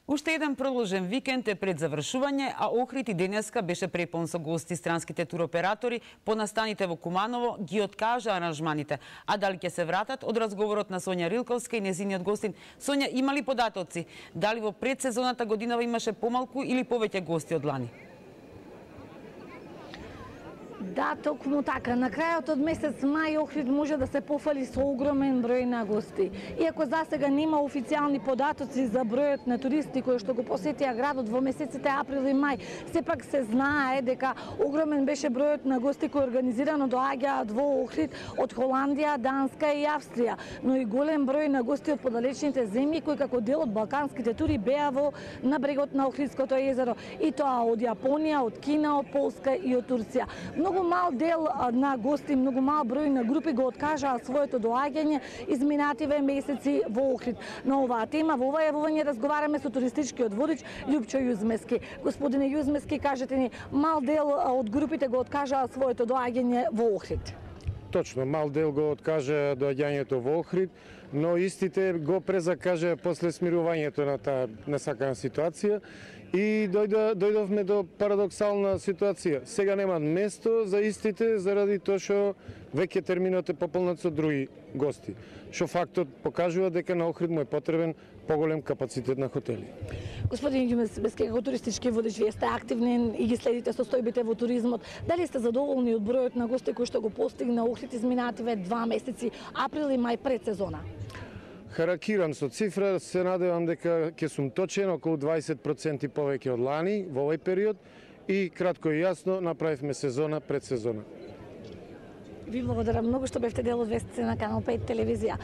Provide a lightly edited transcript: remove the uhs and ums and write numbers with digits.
Уште еден продолжен викенд е пред завршување, а Охрид и денеска беше препон со гости. Странските туроператори по настаните во Куманово ги откажа аранжманите. А дали ќе се вратат? Од разговорот на Сонја Рилковска и незиниот гостин. Сонја, има ли податоци? Дали во предсезоната годинава имаше помалку или повеќе гости од лани? Да, токму така. На крајот од месец мај Охрид може да се пофали со огромен број на гости. Иако засега нема официјални податоци за бројот на туристи кои што го посетија градот во месеците април и мај, сепак се знае дека огромен беше бројот на гости кои организирано доаѓаат во Охрид од Холандија, Данска и Австрија, но и голем број на гости од подалечните земји кои како дел од балканските тури беа на брегот на Охридското езеро, и тоа од Јапонија, од Кина, од Полска и од Турција. Многу мал дел на гости, многу мал број на групи го откажаа своето доаѓање изминативе месеци во Охрид. На оваа тема во ова јавување разговараме со туристичкиот водич Љупчо Јузмески. Господине Јузмески, кажете ни, мал дел од групите го откажаа своето доаѓање во Охрид. Точно, мал дел го откажа доаѓањето во Охрид, но истите го презакажа после смирувањето на таа несакана ситуација и дојдовме до парадоксална ситуација. Сега нема место за истите заради тоа што веќе терминот е пополнат со други гости. Што фактот покажува дека на Охрид му е потребен поголем капацитет на хотели. Господин Јузмески, како туристички водич, вие сте активни и ги следите состојбите во туризмот. Дали сте задоволни од бројот на гости кои што го постигна Охрид изминативе 2 месеци, април и мај пред сезона? Харакирам со цифра, се надевам дека ќе сум точен, околу 20% повеќе од лани во овој период, и кратко и јасно направивме сезона пред сезона. Ви благодарам многу што бевте дел од вестите на Канал 5 телевизија.